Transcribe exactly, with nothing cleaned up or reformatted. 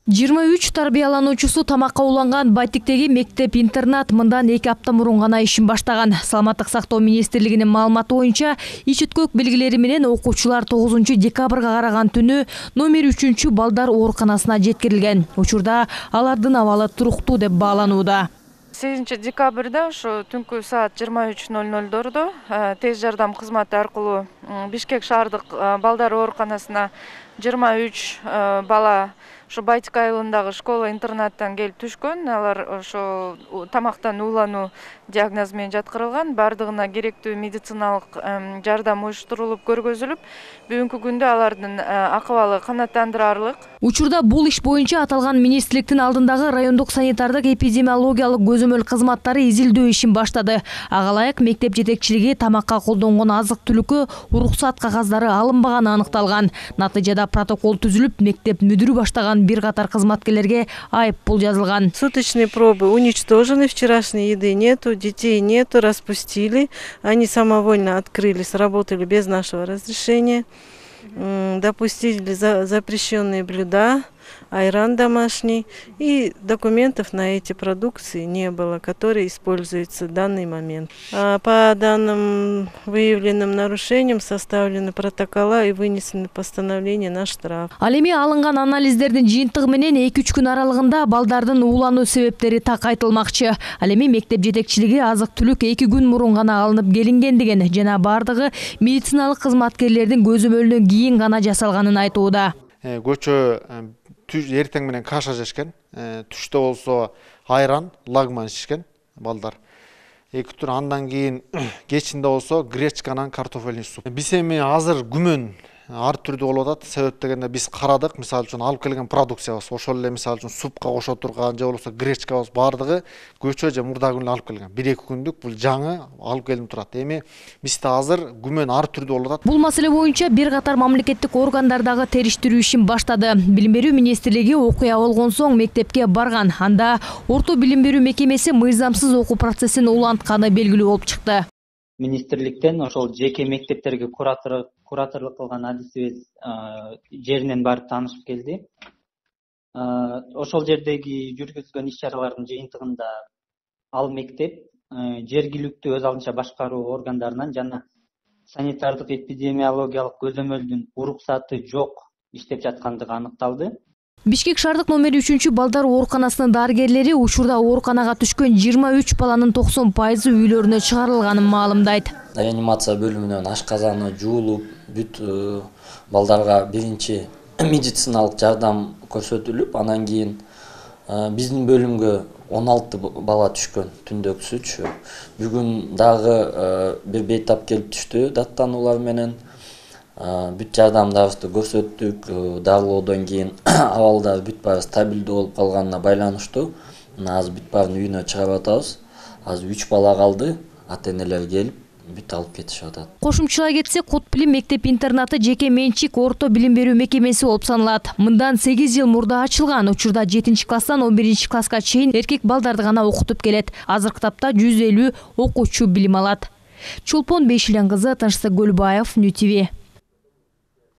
жыйырма үч тарбиялануучусу тамакка уланган Байтиктеги мектеп-интернат мындан эки апта мурун гана ишин баштаган. Саламаттык сактоо министрлигинин маалыматы боюнча, ич өткөк белгилери менен окуучулар тогузунчу декабрга караган түнү номер үчүнчү балдар ооруканасына жеткирилген. Учурда алардын абалы туруктуу деп бааланууда. сегизинчи декабрда ошо түнкү саат жыйырма үч ноль нольдордо тез жардам кызматы аркылуу Бишкек шаардык балдар ооруканасына жыйырма үч бала ошо Байтик айылындагы школа-интернаттан келип түшкөн. Алар ошо тамактан уулануу диагнозу менен жаткырылган. Бардыгына керектүү медициналык жардам уюштурулуп көргөзүлүп, бүгүнкү күндө алардын акыбалы канааттандырарлык. Учурда бул иш боюнча аталган министрликтин алдындагы райондук санитардык эпидемиологиялык көзөмөл кызматтары изилдөө ишин баштады. Ага ылайык мектеп жетекчилиги тамакка колдонгон азык-түлүккө уруксат кагаздары алынбаганы аныкталган. Натыйжада протокол түзүлүп, мектеп мүдүрү баштаган бир катар кызматкерлерге айып пул жазылган. Суточные пробы уничтожены, вчерашней еды нету, детей нету, распустили. Они самовольно открыли, сработали без нашего разрешения. Допустили запрещенные блюда, айран домашний, и документов на эти продукции не было, которые используются в данный момент. А по данным выявленным нарушениям составлены протокола и вынесены постановления на штраф. Ал эми алынган анализдердин жыйынтыгы менен эки үч күн аралыгында балдардын уулануу себептери так айтылмакчы. Ал эми мектеп жетекчилиги азык-түлүк эки күн мурун гана алынып келинген деген жана бардыгы медициналык кызматкерлердин көзөмөлүнөн кийин гана жасалганын айтууда. Көчө эртең менен каша жешкен, түштө болсо айран, лагман ишкен балдар. Эки тур андан кийин кечинде болсо гречканан картофельный суп. Биз эми азыр күмөн ар түрдүү болуп атат. Себеп дегенде биз карадык, мисалы үчүн алып келген продукциябыз, ошол эле мисалы үчүн супка кошо турган же болбосо гречкабыз бардыгы көчө же мурдагы күнү алып келген. бир эки күндүк бул жаңы алып келип турат. Эми бизде азыр күмөн ар түрдүү болуп атат. Бул маселе боюнча бир катар мамлекеттик органдардагы териштирүү ишин баштады. Билим берүү министрлиги окуя болгон соң мектепке барган. Анда орто билим берүү мекемеси мыйзамсыз окуу процессин улантканы белгилүү болуп чыкты. Министрликтен ошол жеке мектептерге куратор кураторлук кылган адисибиз жеринен барып таанышып келди. Ошол жердеги жүргүзгөн иш-чаралардын жыйынтыгында ал мектеп жергиликтүү өз алдынча башкаруу органдарынан жана санитардык эпидемиологиялык көзөмөлдүн уруксаты жок иштеп жаткандыгы аныкталды. Бишкек шаардык номер үчүнчү балдар ооруканасынын дарыгерлери учурда ооруканага түшкөн жыйырма үч баланын токсон пайызы үйлөрүнө чыгарылганын маалымдайт. Реанимация бөлүмүнөн ашказаны жуулуп, бүт балдарга биринчи медициналык жардам көрсөтүлүп, анан кийин биздин бөлүмгө он алты бала түшкөн түндөкүсүчү. Бүгүн дагы бир бейтап келип түштү даттануулар менен. Бүт жардамдарыбызды көрсөттүк. Дарылоодон кийин абалдар бүт баары стабилдүү болуп калганына байланыштуу. Азыр бүт баарын үйүнө чыгарып атабыз. Азыр үч бала калды. Ата-энелер келип бүт алып кетишип атат. Кошумчалай кетсек, Кот Билим мектеп-интернаты жеке менчик орто билим берүү мекемеси болуп саналат. Мындан сегиз жыл мурда ачылган. Учурда жетинчи класстан он биринчи класска чейин эркек балдарды гана окутуп келет. Азыркы тапта жүз элүү окуучу билим алат. Чолпон Бейшилен кызы, Тынчсыз Көлбаев, Ню ти ви.